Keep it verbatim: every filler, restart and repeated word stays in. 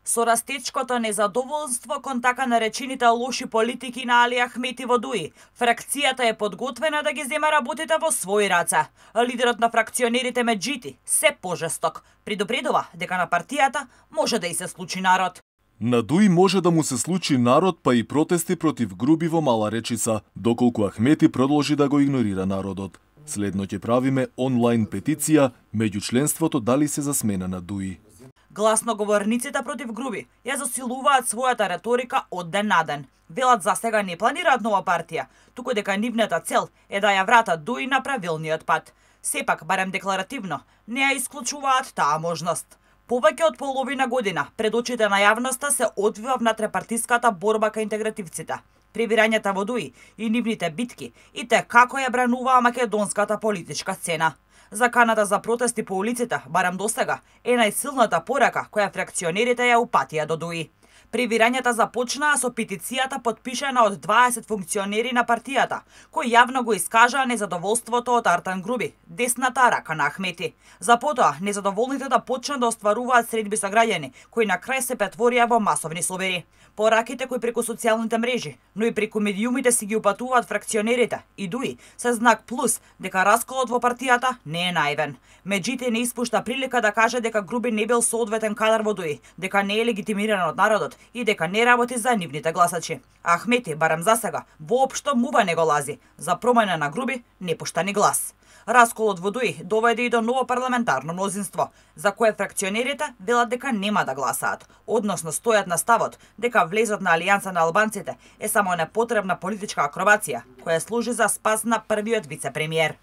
Со растечкото незадоволство кон така наречените лоши политики на Али Ахмети во Дуи, фракцијата е подготвена да ги зема работите во своји раце. Лидерот на фракционерите Меджити се пожесток предупредува дека на партијата може да и се случи народ. На Дуи може да му се случи народ, па и протести против груби во Мала Речица, доколку Ахмети продолжи да го игнорира народот. Следно ќе правиме онлайн петиција меѓу членството дали се за смена на Дуи. Гласноговорниците против груби ја засилуваат својата реторика од ден на ден. Велат за сега не планираат нова партија, туку дека нивната цел е да ја вратат Дуи на правилниот пат. Сепак, барем декларативно, не ја исклучуваат таа можност. Повеќе од половина година пред очите на јавноста се одвива внатрепартиската борба кај интегративците, пребирањата во Дуи и нивните битки и те како ја брануваа македонската политичка сцена. Заканата за протести по улиците, барем досега, е најсилната порака која фракционерите ја упатија до Дуи. Пребирањата започнаа со петицијата подпишана од дваесет функционери на партијата, кои јавно го искажаа незадоволството од Артан Груби, десната рака на Ахмети. За потоа, незадоволните да почнат да остваруваат средби со граѓани, кои на крај се претворија во масовни собери. Пораките кои преку социјалните мрежи, но и преку медиумите си ги упатуваат фракционерите и Дуи се знак плюс дека расколот во партијата не е наивен. Меджити не испушта прилика да каже дека Груби не бил соодветен кадар во Дуи, дека не е легитимиран од народот и дека не работи за нивните гласачи. Ахмети, барем засега, воопшто мува не го лази. За промена на Груби не пушта ни глас. Расколот во Дуи доведе и до ново парламентарно мнозинство, за кое фракционерите велат дека нема да гласаат, односно стојат на ставот дека влезот на Алијанса на албанците е само непотребна политичка акробација, која служи за спас на првиот вице-премиер.